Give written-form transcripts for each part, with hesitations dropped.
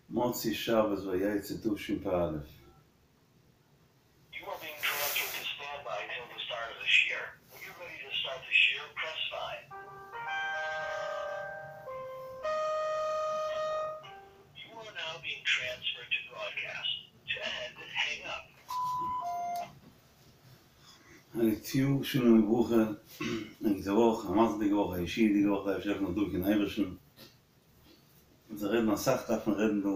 מוצאי שבת ויצא תשפ"א. א גוט יאר, שלום וברכה, א גוטע וואך, א מזל'דיגע וואך, א ישועה'דיגע וואך, דער אייבערשטער העלפן זאל דבוק אין אייבערשטן. אונז רעדן אסאך דארף מען רעדן דא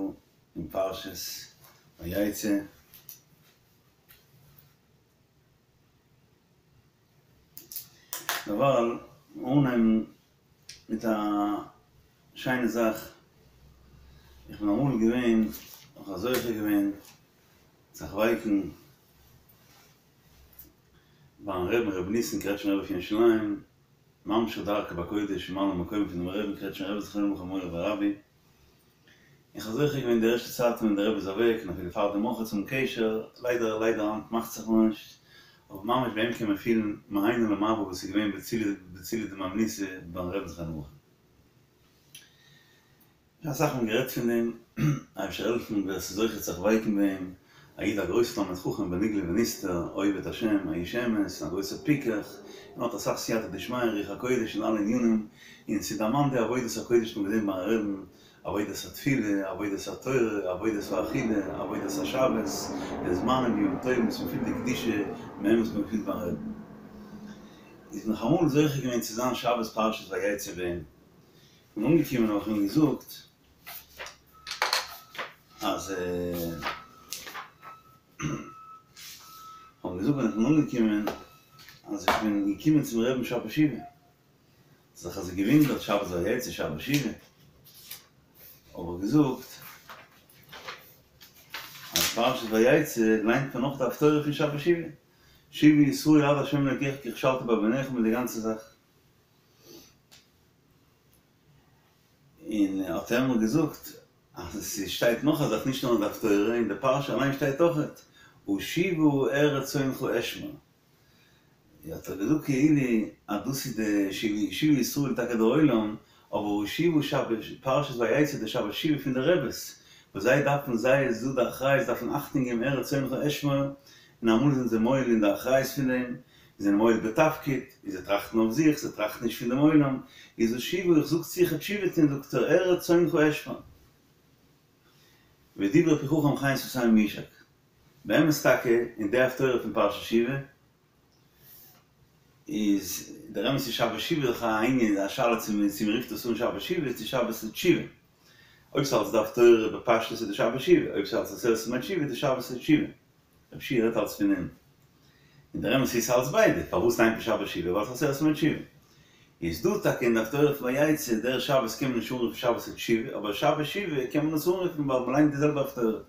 אין פרשת ויצא. דערווייל אנהייבן מיט א שיינע זאך, איך בין אמאל געווען, איך האב זוכה געווען זיך ווייקן ביים רעבן רבי ניסן קרעטשמער רבי פון ירושלים, ממשיך דרכו בקודש ממלא מקום פונעם רעבן קרעטשמער רבי זכרונו לברכה מורי ורבי, איך האב זוכה געווען די ערשטע צייטן ווען דער רבי איז אוועק און אפילו פאר דעם אויך צו האבן קשר, ליידער ליידער היינט מאכט זיך נאר נישט, אבער ממש ביי אים קען מען פילן מהנה למבא וואס איז געווען בצילא דמהימנותא ביים רעבן זכרונו לברכה. אסאך מאל גערעדט פון דעם, אייבערשטער העלפן ווער ס'איז זוכה זיך ווייקן ביי אים, א איד א גרויסע תלמיד חכם בנגלה ונסתר, עובד השם, א איש אמת, א גרויסע פיקח, און האט אסאך סייעתא דשמיא און רוח הקודש אין אלע ענינים, און ס'דערמאנט די עבודת הקודש וואס מ'האט געזען ביים רעבן, עבודת התפילה, עבודת התורה, עבודת האכילה, עבודת השבת, די זמנים ימים טובים וואס מ'פילט די קדושה מער וואס מ'פילט ביים רעבן. איז נאך אמאל זוכה געווען צו זיין שבת פרשת ויצא ביי אים. כ'בין אנגעקומען האב איך אים געזאגט אז כ'האב אים געזאגט ווען איך בין אנגעקומען אז איך בין געקומען צום רעבן שבת שובה, האט זיך אזוי געווינדערט שבת ויצא שבת שובה, האב איך געזאגט אז פרשת ויצא ליינט מען נאך די הפטורה פון שבת שובה, שובה ישראל עד ה' אלקיך כי כשלת בעונך מיט די גאנצע זאך. און האט ער מיר געזאגט אז עס שטייט נאך א זאך נישט נאר אין די הפטורה, אין די פרשה אליין שטייט אויכעט ואשיבה ארץ צאנך אשמר, האט ער געזאגט כאילו אז דאס איז די שובה ישראל טאקע דער עולם, אבער ואשיבה שבת פרשת ויצא די שבת שובה פון די רעבעס וואס זיי דארפן זיי איז דא די אחריות דארפן אכטונג געבן ארץ צאנך אשמר, און אמאל זענען זיי מועל אין די אחריות פון דעם, זיי זענען מועל בתפקיד, און זיי טראכטן אויף זיך, זיי טראכטן נישט פון דעם עולם, איז ואשיבה, איך זאג צו איך תשובה טון, זאגט ער, ארץ צאנך אשמר. ודברי פי חכם חן שפתים יישק. באמת טאקע, אין די הפטורה פון פרשת שובה, איז דער אמת איז שבת שובה דאך א ענין, א שאלה צו מען רופט עס אן שבת שובה צו שבת תשובה. אויב ס'אלץ די הפטורה בפשטות איז די שבת שובה, אויב ס'אלץ עשרת ימי תשובה איז די שבת תשובה. רב שיע רעדט אלץ פון אים. און דער אמת איז ס'אלץ ביידע, פארוואס ליינט מען שבת שובה? ווייל ס'איז עשרת ימי תשובה. איז דא טאקע אין די הפטורה פון ויצא, דער שבת קען מען נישט אנרופן שבת תשובה, אבער שבת שובה קען מען עס אנרופן ווייל מ'ליינט די זעלבע הפטורה.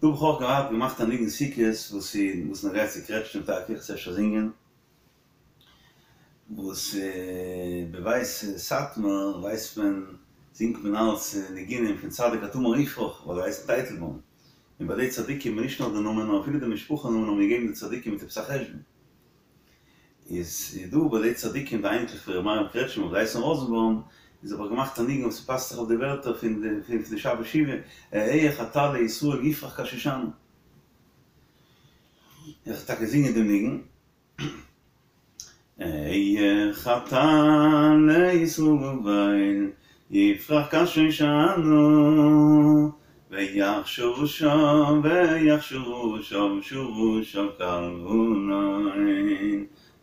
דא האב איך אויך געהאט געמאכט א ניגון סוכות וואס איז וואס נוגע צו קרעטשניף טאקע, איך אפשר זינגען. וואס בבית סאטמאר ווייסט מען זינגט מען אלץ ניגונים פון צדיק כתמר יפרח ווייל זיי הייסן טייטלבוים, און ביי די צדיקים איז נישט נאר די נאמען נאר אפילו די משפחה נאמען האבן געגעבן די צדיקים מיט עפעס א חשבון. איז דא ביי די צדיקים די אייניקלעך פון ר' מאיר קרעטשמער וואס הייסן ראזענבוים, איז האב איך געמאכט א ניגון וואס ס'פאסט זיך אויף די ווערטער פון די שבת שובה, אהיה כטל לישראל יפרח כשושנה. איך וועל טאקע זינגען דעם ניגון. אהיה כטל לישראל יפרח כשושנה ויך שרשיו ויך שרשיו שרשיו כלבנון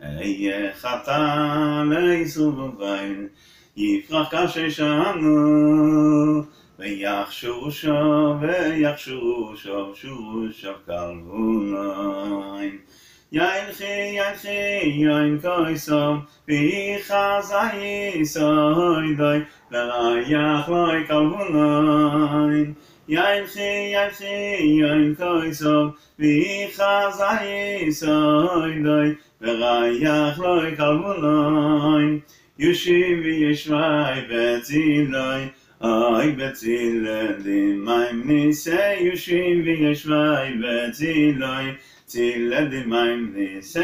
אהיה כטל לישראל יפרח כשושנה ויך שרשיו ויך שרשיו שרשיו כלבנון. ילכו ילכו יונקותיו והוא חזה סודו וריח לו כלבנון ילכו ילכו יונקותיו והוא חזה סודו וריח לו כלבנון ישיבו יושבי בצילו אוי בצילא דמהימנותא ישיבו יושבי בצילו צילא דמהימנותא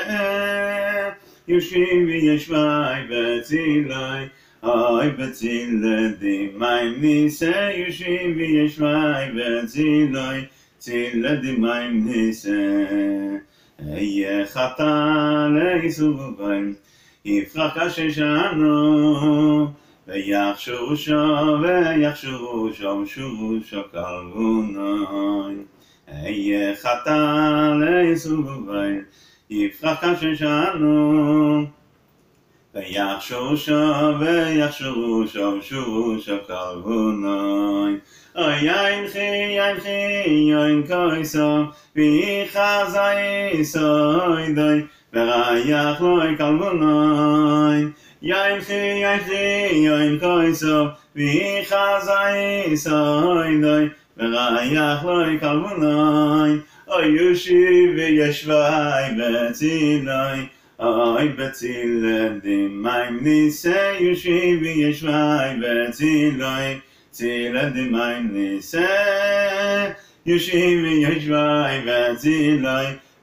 ישיבו יושבי בצילו אוי בצילא דמהימנותא ישיבו יושבי בצילו צילא דמהימנותא אהיה חטא לעשו יפרח כשושנה ויך שורשיו ויך שורשיו שורשיו כלבנון אהיה חטא לעשו יפרח כשושנה ויך שורשיו ויך שורשיו שורשיו כלבנון אוי ילכו ילכו יונקותיו והוא חזה סודו וריח לו כלבנון ילכו ילכו יונקותיו והוא חזה סודו וריח לו כלבנון אוי ישיבו יושבי בצילו אוי בצילא דמהימנותא ישיבו יושבי בצילו צילא דמהימנותא ישיבו יושבי בצילו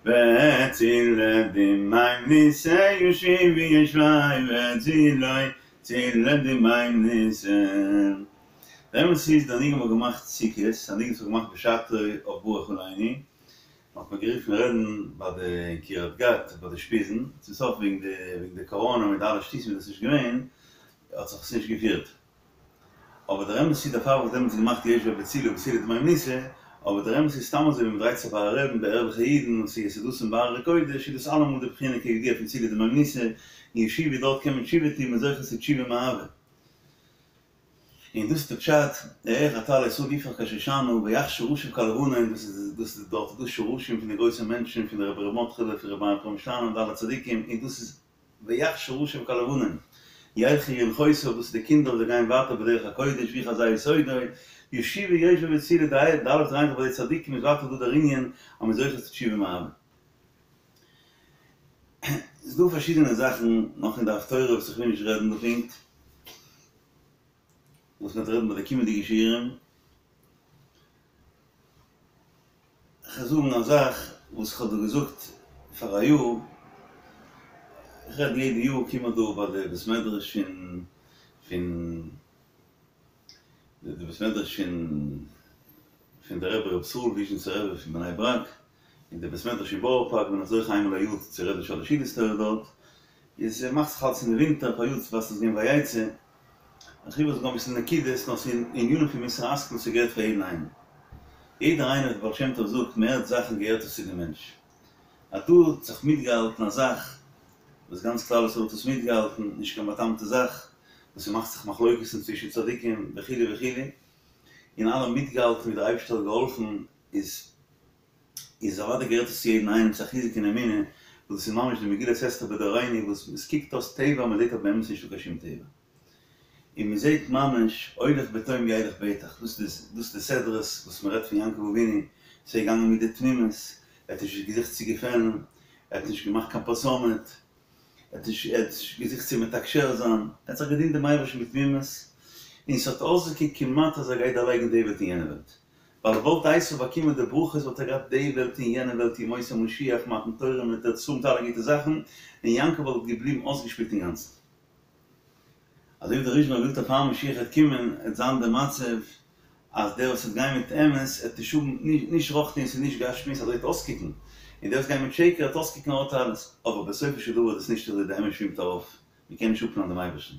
בצילא דמהימנותא ישיבו יושבי בצילו צילא דמהימנותא. דער אמת איז, דער ניגון האט געמאכט סוכות, א ניגון וואס האט געמאכט בשעתו אויף ברך עלינו, מ'האט מיר גערופן רעדן ביי די אין קרית גת ביי די אושפיזין, צום סוף וועגן די וועגן די קאראנע מיט די אלע שטותים איז דאס נישט געווען, האט זיך עס נישט געפירט. אבער דער אמת איז דערפאר האב איך דעמאלטס געמאכט יושבי בצילו בצילא דמהימנותא, אבער דער אמת איז סתם אזוי ווען מ'דרייט זיך ביי א רעבין ביי ערליכע אידן וואס איז יסודתם בהר הקודש איז דאס אלעמאל די בחינה כידוע פון צילא דמהימנותא, אין ישיבה דארט קען מען תשובה טון מ'איז זוכה צו תשובה מאהבה. און דאס איז די פשט, אהיה חטא לעשו יפרח כשושנה ויך שרשיו כלבנון, דאס איז דאס איז דארט איז דא שרשים פון די גרויסע מענטשן פון די רבי ר' מרדכי'לע פון רבי מאיר פרעמישלאנער און די אלע צדיקים, און דאס איז ויך שרשיו כלבנון, ילכו יונקותיו, דאס איז די קינדער וואס זיי גייען ווייטער בדרך הקודש והוא חזה סודו, ישיבו יושבי בצילו די אלע וואס דרייען זיך ביי די צדיקים איז ווייטער דא דער ענין אז מ'איז זוכה צו תשובה מאהבה. ס'איז דא פארשידענע זאכן נאך אין די הפטורה וואס איך וויל נישט רעדן דא פונקט, וואס מ'וועט רעדן ביי די קומענדיגע שיעורים. כ'וועל זאגן א זאך וואס כ'האב דא געזאגט פאר א יאר, איך רעד יעדע יאר קום איך דא ביי די בית מדרש פון פון די בית מדרש פון פון די רבי ר' ישראל וויזשניצער רבי פון בני ברק, און די בית מדרש אין בארא פארק בין איך זוכה איינמאל א יאר צו רעדן שלש סעודות תורה דארט, איז מאכט זיך אלץ אין די ווינטער פאריאר וואס איז געווען ויצא, איך וויל זאגן אביסל נקודות נאר ס'איז ענינים פון מוסר השכל ס'געהערט פאר יעדן איינעם. יעדער איינער ווי דער בעל שם טוב זאגט מ'הערט זאכן געהערט עס צו די מענטש. אז דא האט זיך מיטגעהאלטן א זאך וואס גאנץ כלל ישראל האט עס מיטגעהאלטן, נישט קיין בא'טעמ'טע זאך, וואס ס'מאכט זיך מחלוקת'ן צווישן צדיקים וכו' וכו', און אלע מיטגעהאלטן ווי דער אייבערשטער האט געהאלפן איז איז אוודאי געהערט עס צו יעדן איינעם, ס'איז א חיזוק אין אמונה, וואס דאס איז ממש די מגילת אסתר בדורינו וואס עס קוקט אויס טבע מען זעט אז באמת נישטא קיין שום טבע. און מען זעט ממש הולך בתום ילך בטח, דאס איז דאס איז די סדרות וואס מען רעדט פון יעקב אבינו, ס'איז געגאנגען מיט די תמימות, ער האט נישט געזוכט צו געפעלן, ער האט נישט געמאכט קיין פרסומת, ער האט נישט ער האט נישט געזוכט צו מתקשר זיין, ער האט זיך געדינט דעם אייבערשטן מיט תמימות, און ס'האט אויסגעקוקט כמעט אז ער גייט דערלייגן די וועלט און יענע וועלט. ווייל וואלט עשו באקומען די ברכות וואלט ער געהאט די וועלט און יענע וועלט ימות המשיח מתן תורה מיט ארץ ישראל מיט אלע גוטע זאכן, און יעקב וואלט געבליבן אויסגעשפילט אינגאנצן. אזוי ווי דער ריזשינער וויל אז פאר משיח וועט קומען עט זיין די מצב אז דער וואס וועט גיין מיט אמת עט נישט האבן נישט רוחניות און נישט גשמיות אזוי וועט אויסקוקן, און דער וואס גייט מיט שקר עט אויסקוקן ער האט אלעס, אבער בסופו של דבר איז עס נישט אזוי די אמת שווימט ארויף, מען קען נישט אפנארן דעם אייבערשטן.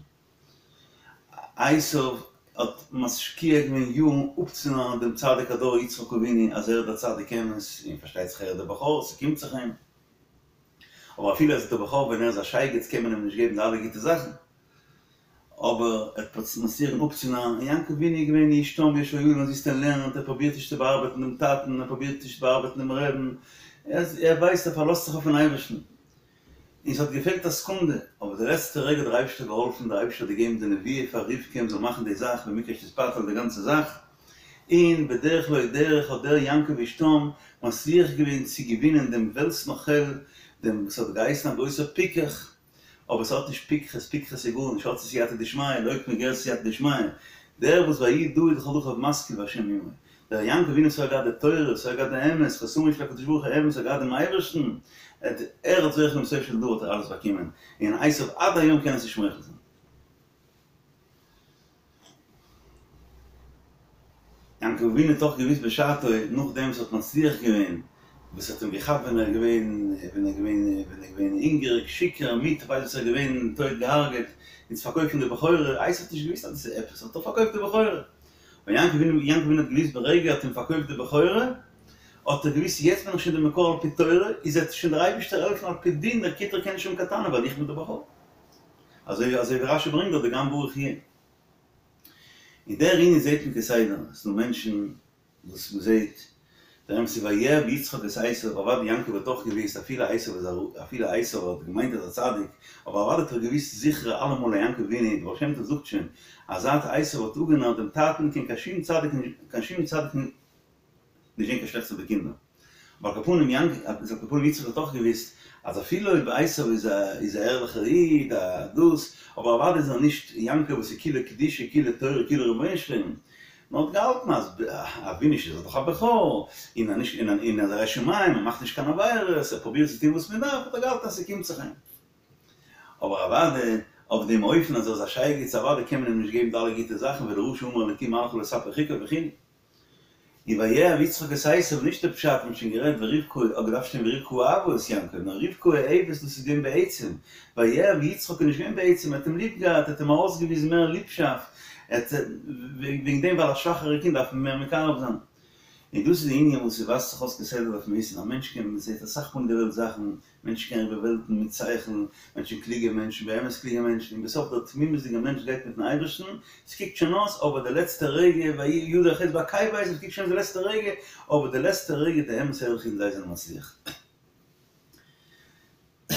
עשו האט משקיע געווען יארן אפצונארן דעם צדיק הדור יצחק אבינו אז ער איז דער צדיק אמת, און פארשטייט זיך ער איז דער בכור, ס'קומט זיך אים. אבער אפילו אז ער איז דער בכור ווען ער איז א שייגעץ קען מען אים נישט געבן די אלע גוטע זאכן. אבער ער האט משקיע געווען אפצונארן, און יעקב אבינו איז געווען איש תם וישר און זיסט און לערנט, ער פרובירט נישט צו באארבעטן דעם טאטן, ער פרובירט נישט צו באארבעטן דעם רעבן, ער ווייסט ער פארלאזט זיך אויפן אייבערשטן. און ס'האט געפעלט א סעקונדע, אבער די לעצטע רגע האט דער אייבערשטער געהאלפן, דער אייבערשטער האט געגעבן די נבואה פאר רבקה מ'זאל מאכן די זאך במקרה שתתפתל די גאנצע זאך, און בדרך לא דרך האט דער יעקב איש תם מצליח געווען צו געווינען דעם וועלטס נוכל, דעם וואס האט געהייסן א גרויסער פיקח, אבער ס'האט נישט פיקחות, פיקחות איז גארנישט, האט סייעתא דשמיא, לא כמו גר סייעתא דשמיא, דער וואס ויהי דוד לכל דרכיו משכיל והשם עמו, דער יעקב אבינו וואס האט געהאט די תורה, וואס האט געהאט די אמת, חותמו של הקדוש ברוך הוא אמת, האט געהאט דעם אייבערשטן, ער האט זוכה געווען בסופו של דבר האט ער אלעס באקומען, און עשיו עד היום קען עס נישט מוחל זיין. יעקב אבינו האט אויך געוואוסט בשעתו, נאכדעם וואס ער האט מצליח געווען, וואס האט אים געכאפט ווען ער איז געווען, ווען ער איז געווען, ווען ער איז געווען הונגעריג, שיכור, מיט כ'ווייס וואס ער איז געווען, טויט געהארגעט, און צו פארקויפן די בכורה, עשיו האט נישט געוואוסט אז דאס איז עפעס, האט ער פארקויפט די בכורה. ווען יעקב אבינו, יעקב אבינו האט געוואוסט ברגע ער האט אים פארקויפט די בכורה, האט ער געוואוסט יעצט בין איך שוין די מקור על פי תורה, איז וועט שוין דער אייבערשטער העלפן על פי דין, דער כותרי קען נישט האבן קיין טענה ווייל איך בין די בכור. אזוי אזוי ווי רשי ברענגט דארט די גם ברוך יהיה. און דער ענין זעט מען כסדר, עס איז דא מענטשן וואס מען זעט, דער אמת איז ויאהב יצחק את עשו, אוודאי יעקב האט אויך געוואוסט אפילו עשו איז א אפילו עשו האט געמיינט אז א צדיק, אבער אוודאי האט ער געוואוסט זיכער אלעמאל אז יעקב אבינו, דער בעל שם טוב זאגט שוין אז זייט עשו האט אפגענארט דעם טאטן קען קיין שום צדיק קיין שום צדיק נישט זען קיין שלעכטס אויף די קינדער. אבער על כל פנים יעקב, על כל פנים יצחק האט אויך געוואוסט אז אפילו אויב עשו איז א איז א ערליכער איד א דאס, אבער אוודאי איז ער נישט יעקב וואס איז כולו קדושה כולו תורה כולו רבונו של עולם, נאר האט געהאלטן אז אבי נישט איז ער דאך א בכור, און אז נישט און אז ער ירא שמים ער מאכט נישט קיין עבירות ער פרובירט צו טון וואס מען דארף האט ער געהאלטן אז ס'קומט זיך אים. אבער אוודאי אויף דעם אופן אז ער איז א שייגעץ אוודאי קען מען אים נישט געבן די אלע גוטע זאכן ולרשע אמר אלקים מה לך לספר חקיו וכו'. און ויאהב יצחק את עשו נישט די פשט מ'האט שוין גערעדט ורבקה האט געדארפט שטיין ורבקה אהבה את יעקב נאר רבקה אוהבת דאס איז געווען בעצם ויאהב יצחק איז נישט געווען בעצם ער האט אים ליב געהאט ער האט אים ארויסגעוויזן מער ליבשאפט ער האט וועגן דעם ווייל א שוואכערע קינד דארף מען מער מקרב זיין און דאס איז די ענין וואס ס'ווייזט זיך אויס כסדר דארף מען וויסן א מענטש קען מ'זעט אסאך מאל אין די וועלט זאכן מענטשן קענען איבער וועלטן מיט שכל, מענטשן קלוגע מענטשן, באמת קלוגע מענטשן, און בסוף דער תמימות'דיגער מענטש גייט מיט'ן אייבערשטן, ס'קוקט שוין אויס, אבער די לעצטע רגע, ויהי ידו החץ בעקבי עשו, ס'קוקט שוין אויס די לעצטע רגע, אבער די לעצטע רגע די אמת ערליכע אידן זיי זענען מצליח.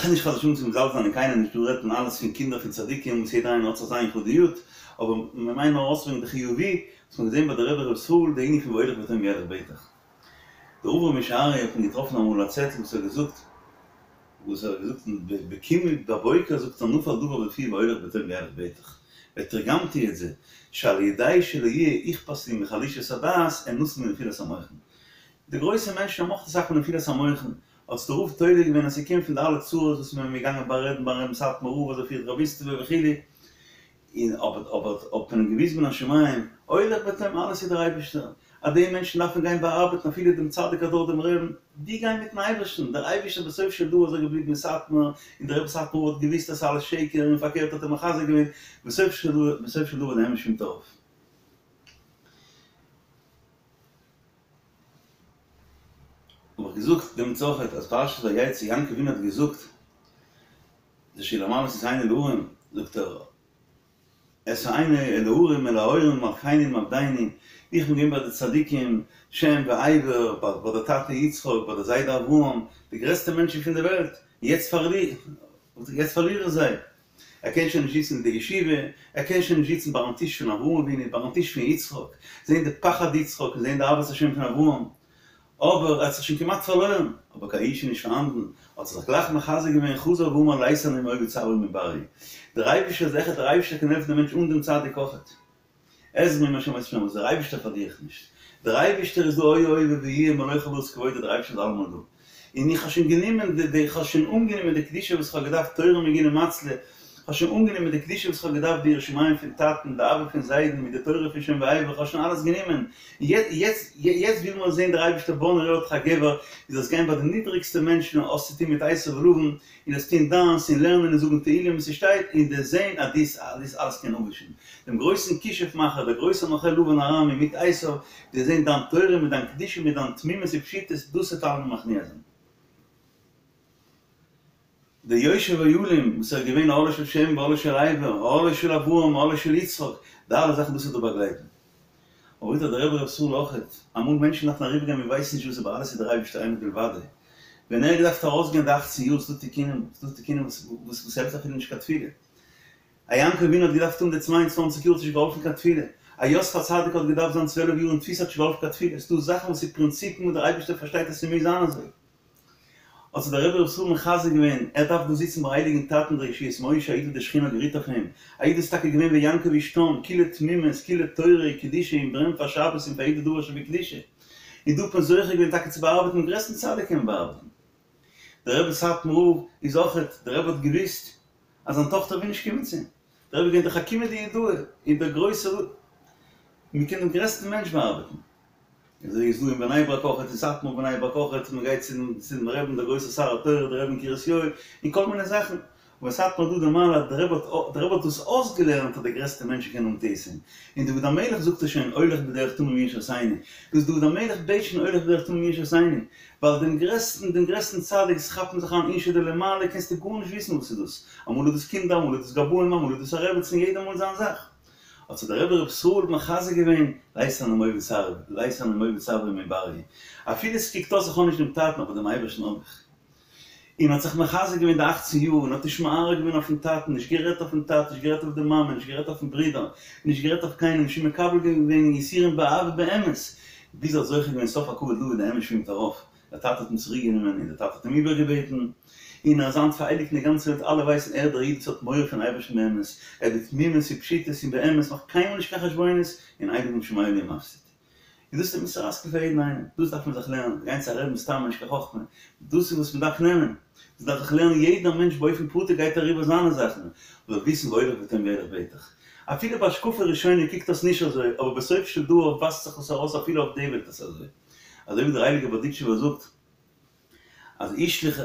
נישט חס ושלום צו מזלזל זיין אין קיינעם נישט, דא רעדט מען אלעס פון קינדער פון צדיקים וואס יעדער איינער האט זיך זיין יחודיות, אבער מ'מיינט נאר ארויסברענגען די חיובי וואס מ'האט געזען ביי די רבי ר' ישראל די ענין פון והולך בטוב ילך בטח. דער רב ר' משה אריה האט מען געטראפן אמאל א צעטל וואס ער האט געזאגט, וואס ער האט געזאגט בקומי בבוקר זאגט ער נפל דבר בפי והולך בטוב ילך בטח, ותרגמתי את זה, שעל ידי שלא יהיה אכפת לי מחלישות הדעת אינשי מנפילת המוחין. די גרויסע מענטשן האבן אויך אסאך פון נפילת המוחין, האט דער רב תולה געווען אז ס'קומט פון די אלע צרות וואס מען איז געגאנגען בארעדן ביים רבי'ן סאטמאר רב אז ער פירט רביסטעווע וכו', און אבער אבער האט מען אים געוויזט מן השמים, הולך בטוב אלעס איז דער אייבערשטער, אז די מענטשן דארפן גיין באארבעטן אפילו דעם צדיק הדור דעם רעבן, די גיין מיטן אייבערשטן, דער אייבערשטער בסוף של דבר איז ער געבליבן אין סאטמאר, און דער רבי סאטמאר רב האט געוויסט אז ס'איז אלעס שקר און פארקערט האט ער מחזק געווען, בסוף של דבר בסוף של דבר דער אמת שווימט ארויף. האב איך געזאגט דעם צרכת אז פרשת ויצא יעקב אבינו האט געזאגט די שיר המעלות איז היינו להרים, זאגט ער, אשא עיני אל ההרים אל ההורים מלכני מעבדני, איך בין געווען ביי די צדיקים שם ועבר, ביי די טאטע יצחק, ביי די זיידע אברהם, די גרעסטע מענטשן פון די וועלט, יעצט פארליר איך זיי. ער קען שוין נישט זיצן אין די ישיבה, ער קען שוין נישט זיצן ביים טיש פון אברהם אבינו, ביים טיש פון יצחק, זען די פחד יצחק און זען די אהבת השם פון אברהם. אבער ער האט זיך שוין כמעט פארלוירן, אבער קיין יאוש איז נישט פארהאנדן, האט ער זיך גלייך מחזק געווען, חזר ואמר לית אנא מאויבי צברי מבריה. דער אייבישטער איז אחד, דער אייבישטער קען העלפן דעם מענטש אן דעם צדיק אויכעט. עזרי מעם השם עושה וואס דער אייבישטער פארליר איך נישט. דער אייבישטער איז דא היה הווה ויהיה מלא כל הארץ כבודו דער אייבישטער איז אלעמאל דא. און איך האב שוין גענומען די די איך האב שוין אנגענומען די קדושה וואס איך האב געדארפט תורה מגינה מצלה, איך האב שוין אנגענומען די קדושה וואס איך האב געדארפט די יראת שמים פון טאטן, די אהבה פון זיידן, מיט די תורה פון שם ועבר, איך האב שוין אלעס גענומען, יעצט יעצט וויל מיר זען דער אייבערשטער בוא נראה אותך גבר, דו זאלסט גיין ביי די נידריגסטע מענטשן און האסט צוטון מיט עשו ולבן, און דאס טון דיינס און לערנען און זאגן תהילים וואס ס'שטייט, און דו'סט זען אז דאס דאס אלעס קען אפווישן דעם גרויסן כישוף מאכער, דער גרויסער נוכל לבן הארמי מיט עשו, דו'סט זען דיין תורה מיט דיין קדושה מיט דיין תמימות ופשיטות, דאס וועט אלעמען מכניע זיין. דער יושב אוהלים וואס ער איז געווען אהלו של שם ואהלו של עבר, אהלו של אברהם אהלו של יצחק, די אלע זאכן דאס וועט דיר באגלייטן. אבער זאגט דער רבי ר' ישראל אויכעט, אמאל מענטשן דארפן אריבערגיין מען ווייסט נישט וואס אבער אלעס איז דער אייבערשטער אין עוד מלבדו. ווען ער האט געדארפט ארויסגיין די אכצן יאר ס'דא תיקונים, ס'דא תיקונים וואס וואס העלפט אפילו נישט קיין תפילה. א יעקב אבינו האט געדארפט האבן די צוויי און צוואנציג יאר האט נישט געהאלפן קיין תפילה. א יוסף הצדיק האט געדארפט זיין צוועלף יאר אין תפיסה האט נישט געהאלפן קיין תפילה. ס'דא זאכן וואס איז פרינציפן וואס דער אייבערשטער פארשטייט אז ס'מוז זיין אזוי. האט זיך דער רבי ר' ישראל מחזק געווען, ער דארף דא זיצן ביי הייליגן טאטן דער ישועות משה, א איד וואס די שכינה האט גערוהט אויף אים, א איד איז טאקע געווען ויעקב איש תם, כולו תמימות, כולו תורה, קדושה, און ברענט פאר שבת און פאר יעדע דבר שבקדושה. און דא האט מען זוכה געווען טאקע צו באארבעטן דעם גרעסטן צדיק קען מען באארבעטן. דער רבי סאטמאר רב איז אויכעט, דער רבי האט געוואוסט אז זיין טאכטער וויל נישט קומען צו אים, דער רבי איז געווען דער חכימא דיהודאי און דער גרויסער, מען קען דעם גרעסטן מענטש באארבעטן. אזוי איז דא אין בני ברק אויכעט, אין סאטמאר בני ברק אויכעט, מען גייט צו דעם רעבען דער גרויסער שר התורה דער רבי אין קרית יואל, און כל מיני זאכן, אבער סאטמאר האט דא די מעלה אז דער רבי האט דער רבי האט דאס אויסגעלערנט אז די גרעסטע מענטשן קענען האבן טעותים, און דוד המלך זאגט עס שוין הולך בדרך תמים ישע עשני, דאס דוד המלך בעט שוין הולך בדרך תמים ישע עשני, ווייל דעם גרעסטן דעם גרעסטן צדיק עס כאפן זיך אריין אינשי דלמעלה קענסטו גארנישט וויסן וואס איז דאס, אמאל איז דאס קינדער אמאל איז דאס גבאים אמאל איז דאס א רעבעצן יעדער מאל זיין זאך. האט זיך דער רבי ר' ישראל מחזק געווען, לית אנא מוביד סברי, לית אנא מוביד סברי מבריה, אפילו עס קוקט אויס איך האב נישט דעם טאטן אבער דעם אייבערשטן האב איך. און האט זיך מחזק געווען די אכצן יאר און האט נישט מערער געווען אויפן טאטן, נישט גערעדט אויפן טאטן, נישט גערעדט אויף די מאמע, נישט גערעדט אויפן ברודער, נישט גערעדט אויף קיינעם, נישט מקבל געווען יסורים באהבה באמת, ביז ער האט זוכה געווען סוף הכבוד לבא די אמת שווימט ארויף, דער טאטע האט אים צוריק גענומען און דער טאטע האט אים איבערגעבעטן, און ער איז היינט פאראייביגט אין די גאנצע וועלט אלע ווייסן ער דער איד וואס האט מורא פון אייבערשטן באמת, ער בתמימות ופשיטות און באמת מאכט קיינמאל נישט קיין חשבונות, און אין אדם שומע לי ומפסיד. און דאס איז די מוסר השכל פאר יעדן איינעם, דאס דארף מען זיך לערנען, גיין צו א רבי'ן סתם איז נישט קיין חכמה, דאס איז וואס מען דארף נעמען, דאס דארף זיך לערנען יעדער מענטש באופן פרטי גייט אריבער זיינע זאכן, זאל וויסן והולך בתם וילך בטח. אפילו בהשקפה ראשונה קוקט דאס נישט אזוי, אבער בסופו של דבר ווייזט זיך עס ארויס אפילו אויף די וועלט עס אזוי. אזוי ווי דער הייליגער בארדיטשובער זאגט אז השליך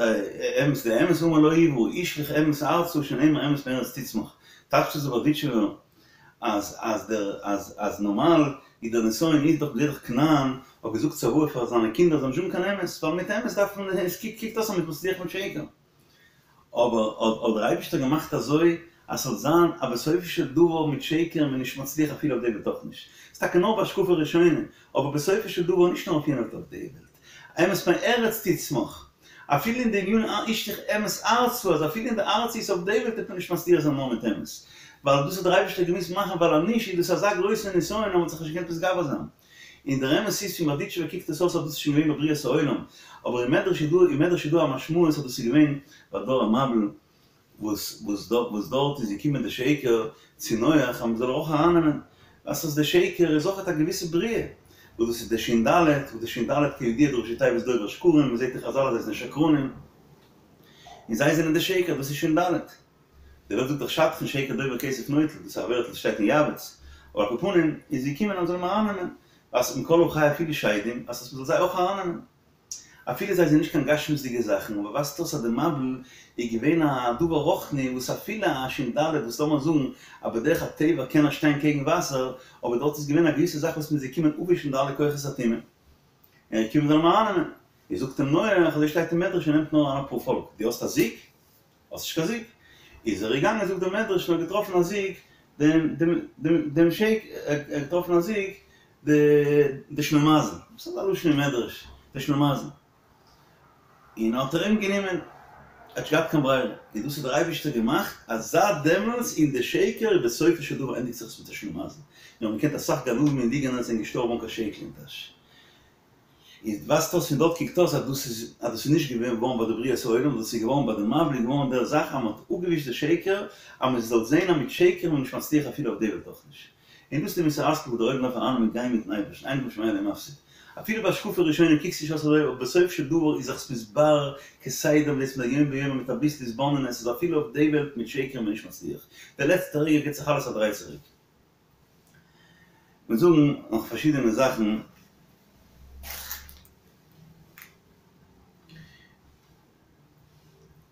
אמת די אמת אמר לא יברא השליך אמת ארצה שנאמר אמת מארץ תצמח טייטשט דאס דער בארדיטשובער אז אז דער אז אז נארמאל איז דער נסיון איז דאך בדרך כנען האט געזאגט צוואה פאר זיינע קינדער זאלן נישט האבן קיין אמת ווייל מיט אמת דארף מען עס קוקט אויס אז מ'איז מצליח מיט שקר. אבער האט דער אייבישטער געמאכט אזוי אז ס'זאל זיין אז בסופו של דבר מיט שקר איז מען נישט מצליח אפילו אויף די וועלט אויך נישט, ס'איז טאקע נאר בהשקפה ראשונה, אבער בסופו של דבר נישט נאר אויף יענע וועלט אויף די וועלט, אמת מארץ תצמח, אפילו אין די ענינים השליך אמת ארצה אז אפילו אין די ארציות אויף די וועלט וועט מען נישט מצליח זיין נאר מיט אמת, ווייל דאס האט דער אייבישטער געמוזט מאכן ווייל אז נישט איז דאס אזא גרויסע נסיון אז מען האט זיך נישט געקענט מתגבר זיין. און דער אמת איז פון בארדיטשובער קוקט עס אויס אז דאס איז שוין געווען בבריאת העולם, אבער אין מדרש איז דא אין מדרש איז דא א משמעות אז דאס איז געווען ביי דור המבול וואס וואס דארט וואס דארט איז געקומען די שקר צו נח אז מען זאל אויך ארייננעמען ווייסט אז די שקר איז אויכעט א געוויסע בריאה וואס דאס איז די שין ד' וואס די שין ד' כידוע די ראשי תיבות דובר שקרים מען זעט אין חזל אז זיי זענען שקרנים און זיי זענען די שקר דאס איז שין ד'. די וועלט זאגט דאך שדכן שקר דובר כסף נוטל, דאס איז א ווערטל וואס שטייט אין יעבץ, אבער על כל פנים איז געקומען אז מ'זאל אים ארייננעמען, אז מכל החי אפילו שדים, אז מ'זאל זיי אויך ארייננעמען. אפילו זיי זענען נישט קיין גשמיות'דיגע זאכן, אבער ווייזט אויס אז די מבול איז געווען א דבר רוחני וואס אפילו א שין ד' וואס לאמיר זאגן אז בדרך הטבע קען ער שטיין קעגן וואסער, אבער דארט איז געווען א געוויסע זאך וואס מ'איז געקומען אפווישן די אלע כוחות הטומאה. און ער איז געקומען מ'זאל אים ארייננעמען. איז זאגט אים נח, אזוי שטייט אין מדרש, ער נעמט נאר אריין אפאר פאלק, דו האסט א זוג? האסט נישט קיין זוג? איז ער געגאנגען זאגט דער מדרש און האט געטראפן א זוג דעם דעם דעם דעם שעיק ער האט געטראפן א זוג די די שלימזל וואס איז א לשון אין מדרש די שלימזל און האט ער אים גענומען ער האט נישט געהאט קיין ברירה און דאס האט דער אייבערשטער געמאכט אז זייט דעמאלטס אין די שקר איז בסופו של דבר ענדיגט זיך עס מיט א שלימזל מיר האבן געקענט אסאך גנבים און ליגענערס זענען געשטארבן אן קיין שקל אין טאש. איז ווייזט אויס פון דארט קוקט אויס אז דאס איז אז דאס איז נישט געווען געווארן ביי די בריאת העולם דאס איז געווארן ביי די מבול איז געווארן דער זאך אז מען האט אפגעווישט די שקר אז מען זאל זען אז מיט שקר איז מען נישט מצליח אפילו אויף די וועלט אויך נישט און דאס איז די מוסר השכל וואס דער עולם דארף ארייננעמען גיין מיטן אייבערשטן אין אדם שומע לי ומפסיד אפילו בהשקפה ראשונה קוקט נישט אויס אזוי אבער בסוף של דבר איז זיך מתברר כסדר ווערט מדי יום ביומו מיט אביסל התבוננות אז אפילו אויף די וועלט מיט שקר איז מען נישט מצליח די לעצטע רגע גיבט זיך אלעס א דריי צוריק. מיר זאגן נאך פארשידענע זאכן.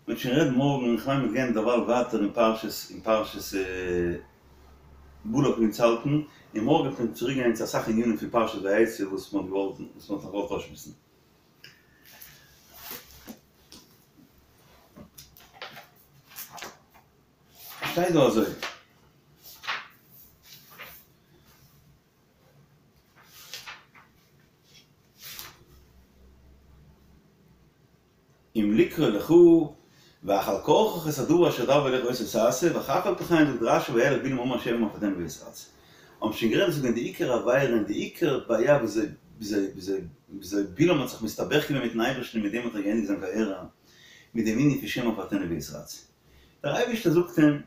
מ'וועט שוין רעדן מארגן, איך מיין מיר גייען דערווייל ווייטער אין פרשת אין פרשת בלק ווי אונז האלטן, און מארגן וועט מען צוריק גיין צו אסאך ענינים פון פרשת ויצא וואס מ'האט געוואלט וואס מ'האט נאך געוואלט אויסשמועסן. שטייט דא אזוי. אם לקרוא לך ואך על כרחך את הדבר אשר אדבר אליך אותו תעשה ואף על פי כן זאגט רשי וילך בלעם אמר שמא אפתנו ויתרצה. האבן שוין גערעדט דאס איז געווען די עיקר עבירה און די עיקר בעיה וויאזוי וויאזוי וויאזוי בלעם האט זיך מסתבך געווען מיטן אייבערשטן און מיט דעם האט ער געענדיגט זיין קאריערע מיט דעם ענין פון שמא אפתנו ויתרצה. דער אייבערשטער זאגט אים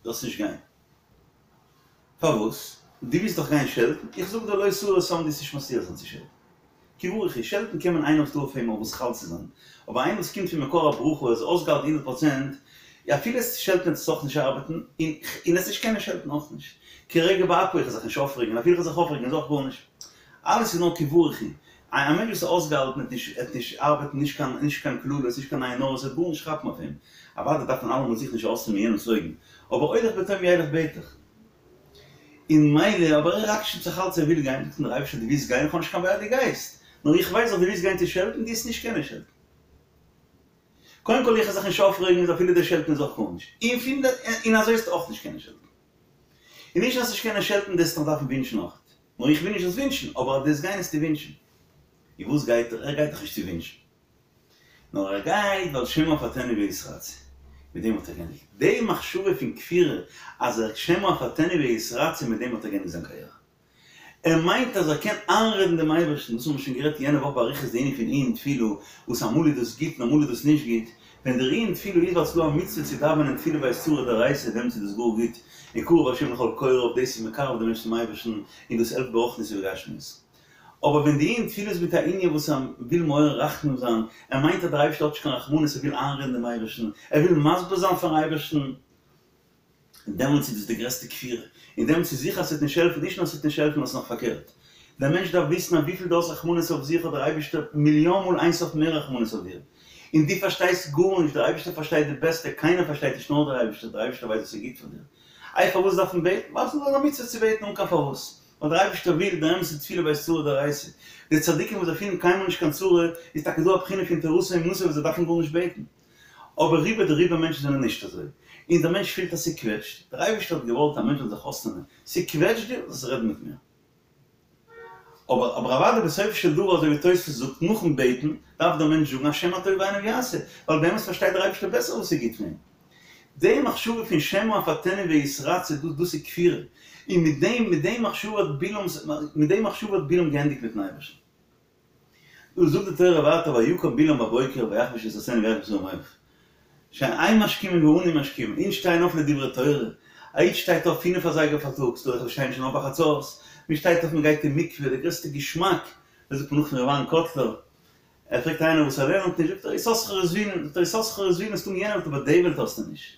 זאלסט נישט גיין. פארוואס? דו ווילסט דאך גיין שעלטן? איך זאג דיר לא תאור את העם דו וועסט נישט מצליח זיין צו שעלטן. כי ברוך הוא, שעלטן קען מען איינער וואס דא אויף אים אויף וואס חל צו זיין, אבער איינער וואס קומט פון מקור הברכה איז אויסגעהאלטן הונדערט פראצענט, אפילו עס שעלטן וועט עס אויך נישט ארבעטן, און און עס נישט קענען שעלטן אויך נישט. כרגע באפו איך זיך נישט אויפרעגן, אפילו איך זיך אויפרעגן איז אויך גארנישט. אלעס איז נאר כי ברוך הוא. א מענטש וואס איז אויסגעהאלטן וועט נישט וועט נישט ארבעטן נישט קיין נישט קיין קללות נישט קיין עין הרע עס וועט גארנישט כאפן אויף אים. אוודאי דארף מען אלעמאל זיך נישט אויסנעמען יענעמס אויגן, אבער הולך בתום ילך בטח. און מילא, אבער ער עקשנ'ט זיך אלץ ער וויל גיין, זאגט אים דער אייבערשטער דו ווילסט גיין, איך האב נישט קיין בעיה דו גייסט, נאר איך ווייס אז דו ווילסט גיין צו שעלטן, דו וועסט נישט קענען שעלטן. קודם כל איך וועל זיך נישט אויפרעגן איז אפילו דער שעלטן איז אויך גארנישט, און פון דער און אזוי וועסטו אויך נישט קענען שעלטן. און נישט אז נישט קענען שעלטן דו וועסט נאך דארפן ווינטשן אויך. נאר איך וויל נישט זאלסט ווינטשן, אבער אז דו וועסט גיין וועסטו ווינטשן. און וואס גייט ער? ער גייט דאך נישט צו ווינטשן. נאר ער גייט ווייל שמא אפתנו ויתרצה. מיט דעם האט ער געענדיגט. די מחשבה פון כפירה אז ער שמא אפתנו ויתרצה מיט דעם האט ער געענדיגט זיין קרייערע. ער מיינט אז ער קען איינרעדן דעם אייבערשטן, דאס האבן מיר שוין גערעדט יענע וואך באריכות די ענין פון עיון תפילה, וואס אמאל איז דאס גוט און אמאל איז דאס נישט גוט, ווען דער עיון תפילה איז ווייל ס'איז דא א מצוה צו דאווענען תפילה בעת צרה דאורייתא דעמאלטס איז דאס גאר גוט, און קרוב השם לכל קוראיו דאס איז מקרב דעם מענטש צום אייבערשטן און דאס העלפט ברוחניות ובגשמיות. אבער ווען די עיון תפילה איז מיט א ענין וואס ער וויל מעורר רחמים זיין, ער מיינט אז דער אייבערשטער האט נישט קיין רחמנות, ער וויל איינרעדן דעם אייבערשטן, ער וויל מסביר זיין פארן אייבערשטן, דעמאלטס איז דאס די גרעסטע כפירה, און דעמאלטס איז זיכער אז ס'וועט נישט העלפן, נישט נאר ס'וועט נישט העלפן נאר ס'איז נאך פארקערט. דער מענטש דארף וויסן אז וויפיל דו האסט רחמנות אויף זיך האט דער אייבערשטער מיליאן מאל אין סוף מער רחמנות אויף דיר, און דו פארשטייסט גארנישט, דער אייבערשטער פארשטייט די בעסטע, קיינער פארשטייט נישט נאר דער אייבערשטער, דער אייבערשטער ווייסט וואס איז גוט פאר דיר. איי פארוואס דארף מען בעטן? ווייל ס'איז דא א מצוה צו בעטן אן קיין פארוואס. ווייל דער אייבערשטער וויל, דער אמת איז תפילה בעת צרה דאורייתא. די צדיקים וואס זיי פילן קיינמאל נישט קיין צרה, איז טאקע דא א בחינה פון תורתו אומנותו וואס זיי דארפן גארנישט בעטן. אבער רובא דרובא מענטשן זענען נישט אזוי. און דער מענטש פילט אז ס'קוועטשט. דער אייבערשטער האט געוואלט א מענטש זאל זיך אויסנעמען. ס'קוועטשט דיר, זאלסט רעדן מיט מיר. אבער אבער אוודאי בסופו של דבר אזוי ווי תוספות זאגט נאכן בעטן דארף דער מענטש זאגן השם מה טוב בעיניו יעשה, ווייל באמת פארשטייט דער אייבערשטער בעסער וואס איז גוט פאר אים. די מחשבה פון שמא אפתנו ויתרצה דאס דאס איז כפירה, און מיט דעם מיט דעם מחשבה האט בלעם מיט דעם מחשבה האט בלעם געענדיגט מיטן אייבערשטן. דא זאגט די תורה ווייטער ויקם בלעם בבוקר ויחבוש את אתונו וילך עם שרי מואב. שוין אין משכימין ואנו משכימין, אונז שטייען אויף לדברי תורה, א איד שטייט אויף פינף אזייגער פארטאגס, דא וועלכע שטייען שוין אויף ביי חצות, מען שטייט אויף מען גייט אין מקווה, די גרעסטע געשמאק, דאס זאגט מען נאך פון ר' אהרן קאטלער, ער פרעגט איינער וואס ער לערנט נישט, זאגט ער יששכר וזבולון, זאגט ער יששכר וזבולון האסטו אין יענע וועלט אבער די וועלט האסטו נישט,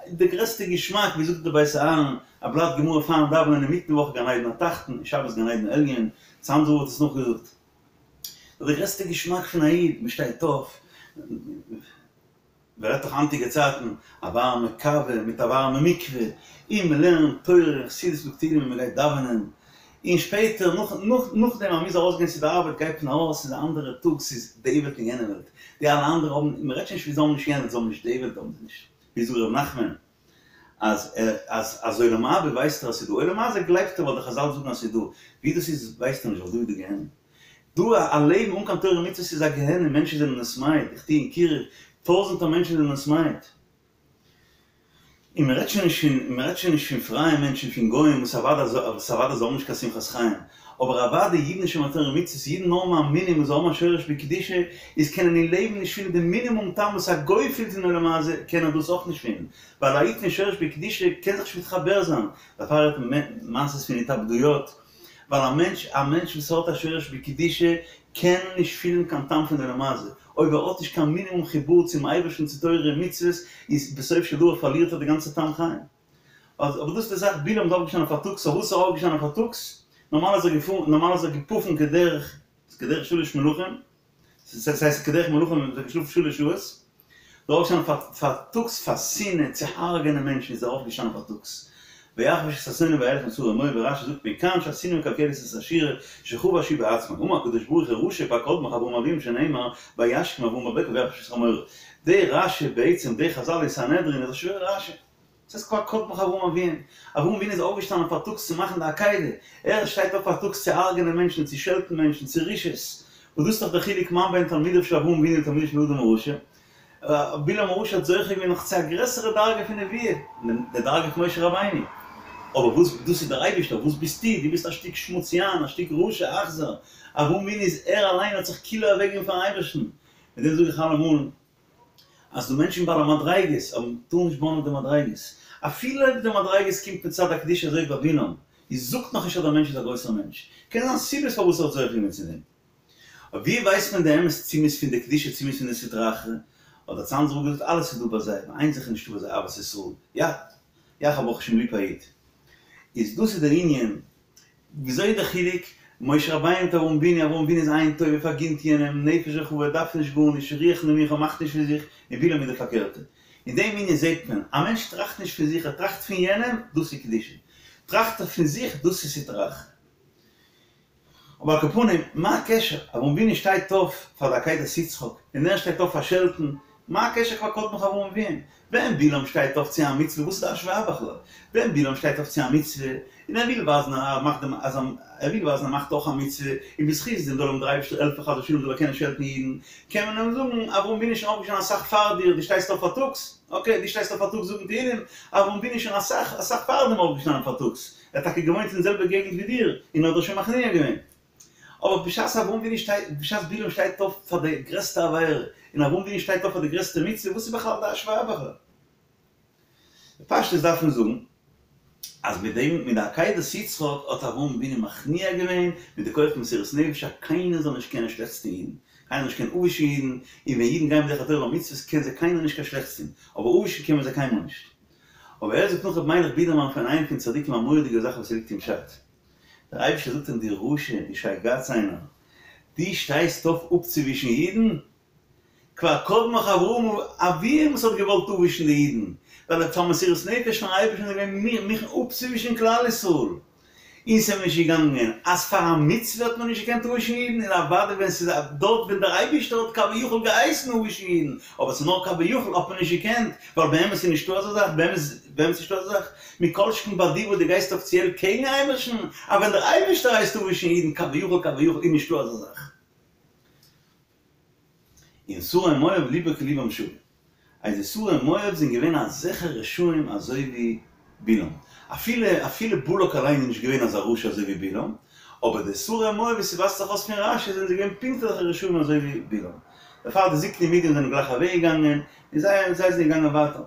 די גרעסטע געשמאק, ווי זאגט דער בית אהרן, א בלאט גמרא פארן דאווענען אינמיטן וואך גן עדן התחתון, און שבת גן עדן עליון, צאנזער רב האט עס נאכגעזאגט. די גרעסטע געשמאק פון א איד, מען שטייט אויף, ווער רעדט נאך היינטיגע צייטן, א ווארעמע קאווע מיט א ווארעמע מקווה, און מען לערנט תורה און חסידות מיט תהילים און מען גייט דאווענען, און שפעטער נאך נאכדעם אז מען מוז ארויסגיין צו די ארבעט גייט מען ארויס, ס'איז א אנדערע טאג, ס'איז די וועלט און יענע וועלט, די אלע אנדערע האבן, מען רעדט שוין נישט ווי זיי האבן נישט יענע וועלט, זיי האבן נישט די וועלט האבן זיי נישט, ווי זאגט ר' נחמן, אז ער אז אז עולם הבא ווייסט ער אז ס'איז דא, עולם הזה גלייבט ער ווייל די חזל זאגן אז ס'איז דא, ווי דאס איז ווייסט ער נישט ווייל דא איז די גיהנום. דא א לעבן אן קיין תורה ומצוות איז א גיהנום, מענטשן זענען עס מייד, איך טוה אין קירוב, טויזענטער מענטשן זענען עס מייד. און מען רעדט שוין נישט פון מען רעדט שוין נישט פון פרייע מענטשן פון גוים וואס אוודאי וואס אוודאי זיי האבן נישט קיין שמחת חיים, אבער אוודאי אידן שומרי תורה ומצוות, אידן נאר מאמינים וואס זיי האבן א שורש בקדושה, איז קענען אין לעבן נישט פילן די מינימום טעם וואס א גוי פילט אין עולם הזה, קען ער דאס אויך נישט פילן, ווייל א איד פון שורש בקדושה קען זיך נישט מתחבר זיין, דערפאר רעדט מען מעשות פון התאבדויות, ווייל א מענטש א מענטש וואס האט א שורש בקדושה קען נישט פילן קיין טעם פון עולם הזה, אויב ער האט נישט קיין מינימום חיבור צום אייבערשטן צו תורה און מצוות, איז בסוף של דבר פארלירט ער די גאנצע טעם חיים. אבער דאס איז די זאך, בלעם איז אויפגעשטאנען פארטאגס, פארוואס איז ער אויפגעשטאנען פארטאגס? נארמאל איז ער געפארן, נארמאל איז ער געפאפן כדרך, כדרך שלש מלכים, ס'הייסט כדרך מלכים האט ער געשלאפן שלש שעות, איז ער אויפגעשטאנען פארטאגס פאר שנאה צו הרג'ענען מענטשן איז ער אויפגעשטאנען פארטאגס, ויחבוש את אתונו וילך עם שרי מואב, ווי רש"י זאגט מכאן שהשנאה מקלקלת את השורה שחבש הוא בעצמו, אמר הקדוש ברוך הוא רשע כבר קדמך אברהם אבינו שנאמר וישכם אברהם בבוקר ויחבוש את חמורו, די רש"י בעצם די חזל אין סנהדרין איז א שווערע רש"י. ס'הייסט כבר קדמך אברהם אבינו. אברהם אבינו איז אויפגעשטאנען פארטאגס צו מאכן די עקידה. ער שטייט אויף פארטאגס צו הרג'נען מענטשן, צו שעלטן מענטשן, צו רשעות. וואס דאס איז דאך דער חילוק מה בין תלמידיו של אברהם אבינו לתלמידיו של אדם הרשע. בלעם הרשע האט זוכה געווען נאך צו א גרעסערע דרגה פון נבואה, די דרגה פון משה רבינו. אבער וואס, דאס איז דער אייבערשטער, וואס ביסטו? דו ביסט א שטיק שמוציאן, א שטיק רשע, אכזר. אברהם אבינו איז ער אליין האט זיך כאילו אוועקגעגעבן פארן אייבערשטן. מיט דעם זאג איך אלעמאל, אז ס'דא מענטשן בעלי מדריגות, אבער מ'טאר נישט בויען אויף די מדריגות. אפילו אויב די מדריגות קומט מצד הקדושה אזוי ווי ביי בלעם, איז זאגט נאכנישט אז דער מענטש איז א גרויסער מענטש. קען זיין סיבות פארוואס ער האט זוכה געווען צו דעם. אבער ווי ווייסט מען די אמת צו מ'איז פון די קדושה צו מ'איז פון די סטרא אחרא? האט דער צאנזער רב געזאגט אלעס איז דא ביי זיי, נאר איין זאך איז נישטא ביי זיי אהבת ישראל. יא! יא כ'האב ברוך השם ליב א איד. איז דאס איז דער ענין. וויאזוי איז דער חילוק? משה רבינו מיט אברהם אבינו, אברהם אבינו איז עין טובה, פארגינט יענעם, נפש רחבה, דארף נישט גארנישט, רוח נמוכה, מאכט נישט פון זיך, און בלעם איז די פארקערטע. אין דעם ענין זעט מען, א מענטש טראכט נישט פון זיך, ער טראכט פון יענעם, דאס איז קדושה. טראכט ער פון זיך, דאס איז סטרא אחרא. אבער על כל פנים, מה הקשר? אברהם אבינו שטייט אויף פאר די עקידת יצחק, און ער שטייט אויף פאר שעלטן, מה הקשר כבר קדמך אברהם אבינו? ווען בלעם שטייט אויף צו א מצוה, וואס איז די השוואה בכלל? ווען בלעם שטייט אויף צו א מצוה, און ער וויל ווייזן אז ער מאכט דעם אז ער וויל ווייזן ער מאכט אויך א מצוה, און בזכות דעם זאל אים דער אייבערשטער העלפן חס ושלום זאל ער קענען שעלטן אידן, קען מען אים זאגן, אברהם אבינו איז שוין אויפגעשטאנען אסאך פאר דיר, דו שטייסט אויף פארטאגס? אקעי, דו שטייסט אויף פארטאגס זאגן תהילים, אברהם אבינו איז שוין אסאך אסאך פאר דעם אויפגעשטאנען פארטאגס, ער האט טאקע געוואוינט אין די זעלבע געגנט ווי דיר, און האט דיר שוין מכניע געווען. אבער בשעת אברהם אבינו שטייט, בשעת בלעם שטייט אויף פאר די גרעסטע עבירה, און אברהם אבינו שטייט אויף פאר די גרעסטע מצוה, וואס איז בכלל די השוואה בכלל? בפשטות דארף מען זאגן, אז מיט דעם, מיט די עקידת יצחק האט אברהם אבינו מכניע געווען מיט די כח מסירות נפש אז קיינער זאל נישט קענען שלעכטס טון אידן, קיינער זאל נישט קענען אפווישן אידן, און ווען אידן גייען בדרך התורה והמצוות קען זיי קיינער נישט קיין שלעכטס טון, אבער אפווישן קען מען זיי קיינמאל נישט. אבער ער זאגט נאך רבי מיילעך בידערמאן פון איינע פון צדיקים א מורא'דיגע זאך וואס ליגט אין פשט. דער אייבערשטער זאגט אים דו רשע, דו שייגאץ איינער, דו שטייסט אויף אפצואווישן אידן? כבר קדמך אברהם אביהם וואס האט געוואלט אפווישן די אידן, ווייל ער האט פאר מסירות נפש פארן אייבערשטן איז געווען מוכן אפצואווישן כלל ישראל, און ס'איז אים נישט געגאנגען אז פאר א מצוה האט מען נישט געקענט אפווישן אידן, און אוודאי ווען ס'איז דארט ווען דער אייבערשטער האט כביכול געהייסן אפווישן אידן, אבער ס'איז נאר כביכול האט מען נישט געקענט, ווייל באמת איז נישטא אזא זאך, באמת באמת איז נישטא אזא זאך, מכל שכן ביי דיר וואס דו גייסט אפיציעל קעגן אייבערשטן, אז ווען דער אייבערשטער הייסט אפווישן אידן כביכול כביכול איז נישטא אזא זאך. און שרי מואב ליבו כלבם שוה. אז די שרי מואב זענען געווען אזעלכע רשעים אזוי ווי בלעם. אפילו אפילו בלק אליין איז נישט געווען אזא רשע אזוי ווי בלעם, אבער די שרי מואב ווי ס'ווייזט זיך אויס פון רש"י זענען זיי געווען פונקט אזעלכע רשעים אזוי ווי בלעם. דערפאר די זקני מדין זענען גלייך אוועק געגאנגען, און זיי זיי זענען געגאנגען ווייטער.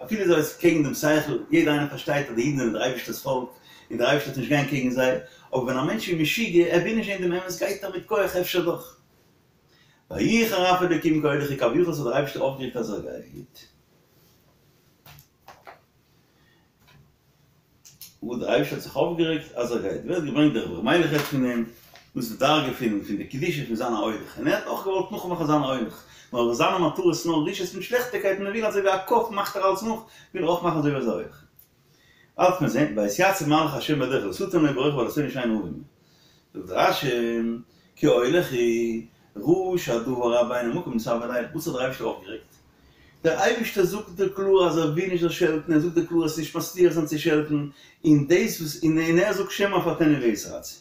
אפילו אזוי איז קעגן דעם שכל, יעדער איינער פארשטייט אז די אידן זענען דער אייבערשטער'ס פאלק, און דער אייבערשטער וועט נישט גיין קעגן זיי, אבער ווען א מענטש איז משוגע, ער וויל נישט זען דעם אמת, גייט ער מיט כח אפשר דאך. ויחר אף אלקים כי הולך הוא כביכול האט דער אייבערשטער אויפגערעגט אז ער גייט. וואו דער אייבערשטער האט זיך אויפגערעגט אז ער גייט, ווערט געברענגט דער רבי ר' מיילעך רעדט פון דעם, דאס איז די דרגה פון פון די קדושה פון זיין א הולך, און ער האט אויך געוואלט נאכמאכן זיין א הולך, נאר זיינע מטרות איז נאר רשעות מיט שלעכטיגקייט און ער וויל אזוי ווי א קוף מאכט ער אלץ נאך, וויל ער אויך מאכן אזוי ווי אזא הולך. וועט מען זען, ויתיצב מלאך השם בדרך לשטן לו ברוכב על אתונו שאין ערום. זאגט רש"י, כי הולך הוא, ראה שהדבר רע בעיני המקום נתאוה לילך, וואס האט דער אייבערשטער אויפגערעגט? דער אייבערשטער זאגט דיר קלאר אז ער וויל נישט זאלסט שעלטן, ער זאגט דיר קלאר אז נישט מצליח זיין צו שעלטן, און דאס וואס און ער זאגט שמא אפתנו ויתרצה.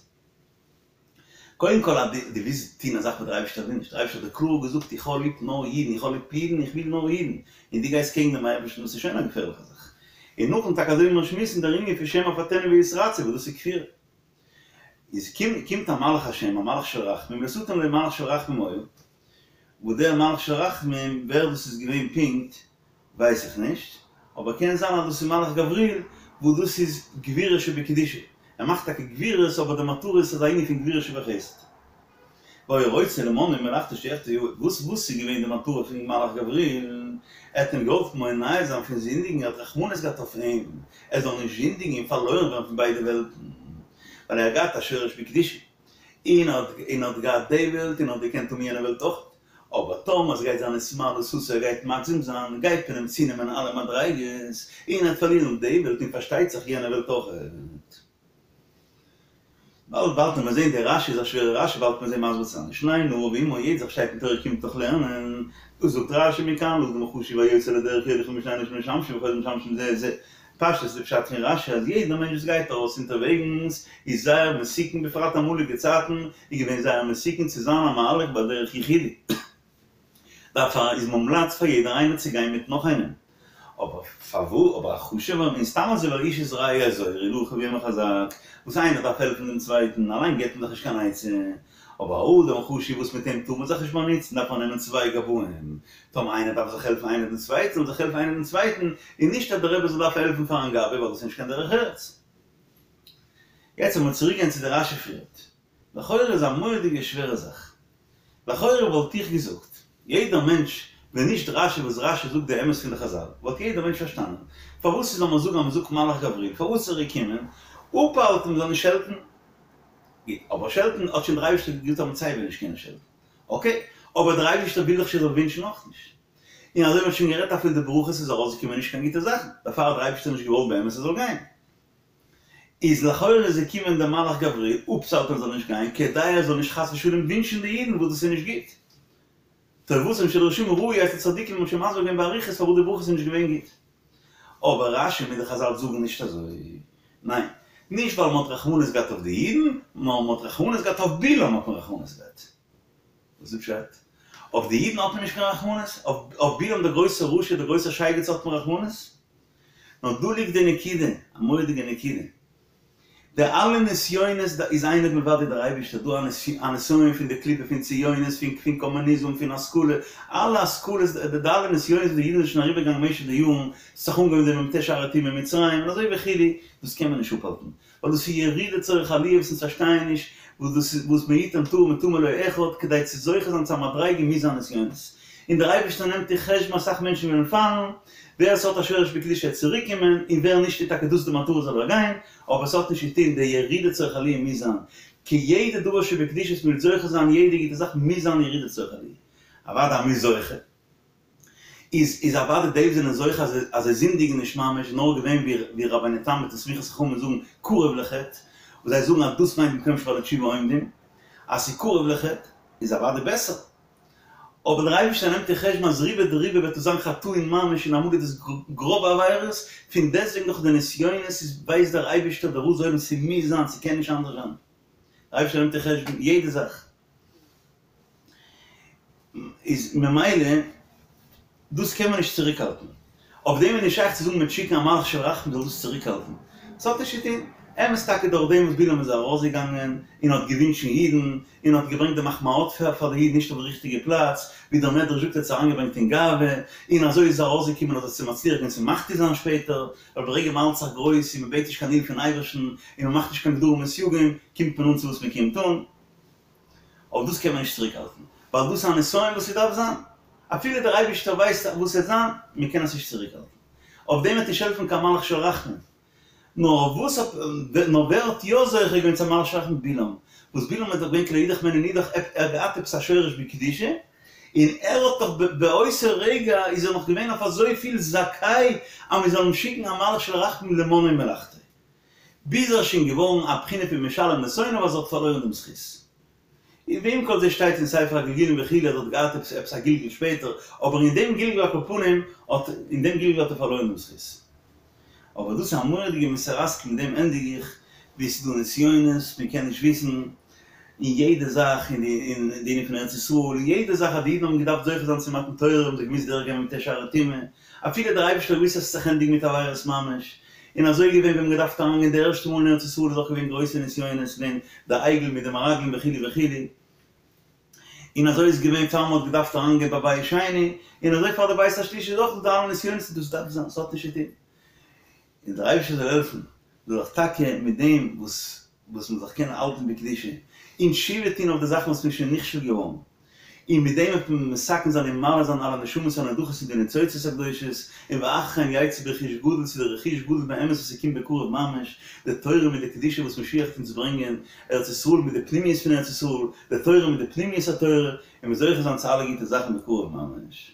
קודם כל אז דו ווילסט טון א זאך וואס דער אייבערשטער וויל נישט, דער אייבערשטער האט דיר קלאר געזאגט איך האב ליב נאר אידן, איך האב ליב אידן, איך וויל נאר אידן, און דו גייסט קעגן דעם אייבערשטן, דאס איז שוין א געפערליכע זאך. און נאכדעם טאקע אזוי ווי מיר שמועסן דער ענין פון שמא אפתנו ויתרצה וואס דאס איז כפירה. איז קומט א מלאך השם, א מלאך של רחמים, לשטן לו מלאך של רחמים היה, וואס דער מלאך של רחמים, ווער דאס איז געווען פונקט ווייס איך נישט, אבער קען זיין אז דאס איז מלאך גבריאל, וואס דאס איז גבורה שבקדושה, ער מאכט טאקע גבורות אבער די מטרה איז אזא ענין פון גבורה שבחסד. והיה רוצה למנעו ממלאכתו שיחטא, וואס וואס איז געווען די מטרה פון מלאך גבריאל? ער האט אים געוואלט מונע זיין פון זינדיגן, ער האט רחמנות געהאט אויף אים, ער זאל נישט זינדיגן און פארלוירן ווערן פון ביידע וועלטן, ווייל ער האט געהאט א שורש בקדושה. און האט און האט געהאט די וועלט און האט געקענט האבן יענע וועלט אויך, אבער טאמער עס גייט זיין התמעלות ער גייט מגזים זיין, גייט מען אים צונעמען אלע מדריגות, און ער וועט פארלירן די וועלט און פארשטייט זיך יענע וועלט אויך. באלד באלד וועט מען זעהן די רשי איז א שווערע רשי באלד וועט מען זעהן מסביר צו זיין ושני נער ועמו יעדע זאך שטייט אין תורה קומט דאך לערנען, דאס זאגט רשי מכאן לאדם חשוב היוצא לדרך יוליך עמו שני אנשים משמשים וחוזר משמשים זה את זה. פשטות איז די פשט פון רשי אז יעדער מענטש וואס גייט ארויס אונטערוועגנס איז זייער מסוכן בפרט אמאליגע צייטן איז געווען זייער מסוכן צו זיין א מהלך בדרך יחידי. דערפאר איז מומלץ פאר יעדער איינער צו גיין מיט נאך איינעם. אבער פארווא אבער א חשוב'ער און סתם אזוי ווייל איש את רעהו יעזורו ולאחיו יאמר חזק, וואס איינער דארף העלפן דעם צווייטן, אליין געבט מען זיך נישט קיין עצה, אבער א אדם חשוב וואס מיט אים טאר מען זיך נישט באנוצן דארף מען נעמען צוויי גבאים, טאמער איינער דארף זיך העלפן איינער דעם צווייטן זאל זיך העלפן איינער דעם צווייטן, און נישט אז דער רבי זאל דארפן העלפן פארן גבאי ווייל דאס איז נישט קיין דרך ארץ. יעצט לאמיר צוריק גיין צו די רשי פריערט. לכאורה איז א מורא'דיגע שווערע זאך. לכאורה וואלט איך געזאגט, יעדער מענטש, ווען נישט רשי וואס רשי זאגט די אמת פון די חזל, וואלט יעדער מענטש פארשטאנען, פארוואס זאל מען זאגן אז מען זאגט מלאך גבריאל, פארוואס איז ער געקומען, אפהאלטן מען זאל נישט שעלטן. גוט, אבער שעלטן האט שוין דער אייבערשטער געזאגט אז מען וועט סייווי נישט קענען שעלטן. אקעי, אבער דער אייבערשטער וויל דאך שוין זאל ווינטשן אויך נישט. און אזוי ווי מען האט שוין גערעדט אפילו די ברכות איז ארויסגעקומען נישט קיין גוטע זאכן, דערפאר האט דער אייבערשטער נישט געוואלט באמת עס זאל גיין. איז לכאורה איז געקומען דער מלאך גבריאל אפצוהאלטן ער זאל נישט גיין כדי ער זאל נישט חס ושלום ווינטשן די אידן וואס דאס איז נישט גוט. טובתם של רשעים ראויה אצל צדיקים האט שוין מסביר געווען באריכות פארוואס די ברכות איז נישט געווען גוט. אבער רשי מיט די חזל זאגן נישט אזוי. ניין. נישט ווייל מ'האט רחמנות געהאט אויף די אידן, נאר מ'האט רחמנות געהאט אויף בלעם האט מען רחמנות געהאט. וואס איז פשט? אויף די אידן האט מען נישט קיין רחמנות? אויף בלעם דער גרויסער רשע דער גרויסער שייגעץ האט מען רחמנות? נאר דא ליגט די נקודה, א מורא'דיגע נקודה. די אלע נסיונות איז אין עוד מלבדו דער אייבערשטער, דא א נסיון פון די קליפה פון ציונות, פון פון קאמוניזם, פון השכלה, אלע השכלות, די אלע נסיונות וואס די אידן זענען שוין אריבערגעגאנגען במשך די יארן, ס'האט זיך אנגעהויבן די מ"ט שערי טומאה אין מצרים, און אזוי וכו', דאס קען מען נישט אפהאלטן, ווייל דאס איז ירידה צורך עליה וואס אונז פארשטייען נישט וואס דאס איז וואס מי יתן טהור מטמא לא אחד כדי צו זוכה זיין צו א מדריגה מוז זיין נסיונות און דער אייבערשטער נעמט אין חשבון אסאך מענטשן וועלן פאלן ווער עס האט א שורש בקדושה וועט צוריק קומען און ווער נישט איז טאקע דאס די מטרה זאל ער גיין אבער עס האט נישט צו טון די ירידה צורך עליה מוז זיין כי יעדע דבר שבקדושה וואס מען וויל זוכה זיין יעדע גוטע זאך מוז זיין ירידה צורך עליה אוודאי אז מען איז זוכה. איז איז אוודאי די וואס זענען זוכה אז אז זיי זינדיגן נישט ממש נאר געווען ווי ווי רבינו תם מיטן סמיכת חכמים זאגן קרוב לחטא, וואס זיי זאגן אז דאס מיינט במקום שבעלי תשובה עומדים, אז ס'איז קרוב לחטא איז אוודאי בעסער. אבער דער אייבערשטער נעמט אין חשבון אז רובא דרובא וועט עס זיין חטאים ממש און אמאל איז דאס גראבע עבירות, פון דעסטוועגן דורך די נסיונות איז ווייסט דער אייבערשטער דער רז עולם ס'מוז זיין ס'קען נישט אנדערש זיין. דער אייבערשטער נעמט אין חשבון יעדע זאך. איז ממילא דאס קען מען נישט צוריקהאלטן. אויף דעם איז נישט שייך צו זאגן מ'וועט שיקן א מלאך של רחמים זאל דאס צוריקהאלטן. עס האט נישט צו טון. אמת טאקע דורך דעם וואס בלעם איז ארויסגעגאנגען און האט געווינטשן אידן, און האט געברענגט די מחמאות פאר די אידן נישט אויף די ריכטיגע פלאץ, ווי דער מדרש זאגט ער האט עס אריינגעברענגט אין גאווה, און אזוי איז ארויסגעקומען אז ער איז צו מצליח געווען צו מחטיא זיין שפעטער, ווייל ברגע מען האלט זיך גרויס און מען בעט נישט קיין הילף פון אייבערשטן, און מען מאכט נישט קיין גדרים און סייגים, קומט מען אן צו וואס מען קומט אן. אבער דאס קען מען נישט צוריק האלטן, ווייל דאס איז א נסיון וואס ס'דארף זיין, אפילו דער אייבערשטער ווייסט וואס ס'וועט זיין, מען קען עס נישט צוריק האלטן, אויף דעם וועט נישט העלפן קיין מלאך של רחמים, נאר אויף וואס האט, נאר ווער האט יא זוכה געווען צו א מלאך של רחמים? בלעם, וואס בלעם איז דאך געווען כי לא ידח ממנו נדח, ער האט געהאט עפעס א שורש בקדושה, און ער האט דאך באותו רגע איז ער נאך געווען אויף אזויפיל זכאי אז מען זאל אים שיקן א מלאך של רחמים למנעו מלאכתו. ביז ער איז שוין געווארן א בחינה פון משלם לשונאיו אז ער האט פארלוירן דעם זכות. און ועם כל זה שטייט אין ספר הגלגולים וכו' אז ער האט געהאט עפעס עפעס א גלגול שפעטער, אבער אין דעם גלגול על כל פנים האט אין דעם גלגול האט ער פארלוירן דעם זכות. אבער דאס איז א מורא'דיגע מוסר השכל מיט דעם ענדיג איך, ווי עס איז דא נסיונות, מען קען נישט וויסן, אין יעדע זאך, אין די אין די ענין פון ארץ ישראל, אין יעדע זאך אז די אידן האבן געדארפט זוכה זיין צו מתן תורה האבן זיי געמוזט דורכגיין מ"ט שערי טומאה, אפילו דער אייבערשטער האט געוואוסט אז עס וועט זיך ענדיגן מיט עבירות ממש, און אזוי געווען ווען מען געדארפט אריינגיין די ערשטע מאל אין ארץ ישראל איז אויך געווען גרויסע נסיונות ווען די עגל מיט די מרגלים וכו' וכו', און אזוי איז געווען פאר מען האט געדארפט אריינגיין ביי בית שני, און אזוי פאר די בית השלישי איז אויך דא די אלע נסיונות און דאס דארף זיין, ס'האט נישט צו טון. און דער אייבערשטער זאל העלפן זאל זיך טאקע מיט דעם וואס וואס מען זאל זיך קענען האלטן בקדושה, און תשובה טון אויף די זאכן וואס מען איז שוין נכשל געווארן, און מיט דעם וועט מען מתקן זיין און מעלה זיין אלע נשמות הנדחות און די ניצוצות הקדושות, און ואחרי כן יצאו ברכוש גדול צו די רכוש גדול באמת וואס ס'קומט בקרוב ממש, די תורה מיט די קדושה וואס משיח וועט אונז ברענגען, ארץ ישראל מיט די פנימיות פון ארץ ישראל, די תורה מיט די פנימיות התורה, און מיר זוכה זיין צו אלע גוטע זאכן בקרוב ממש.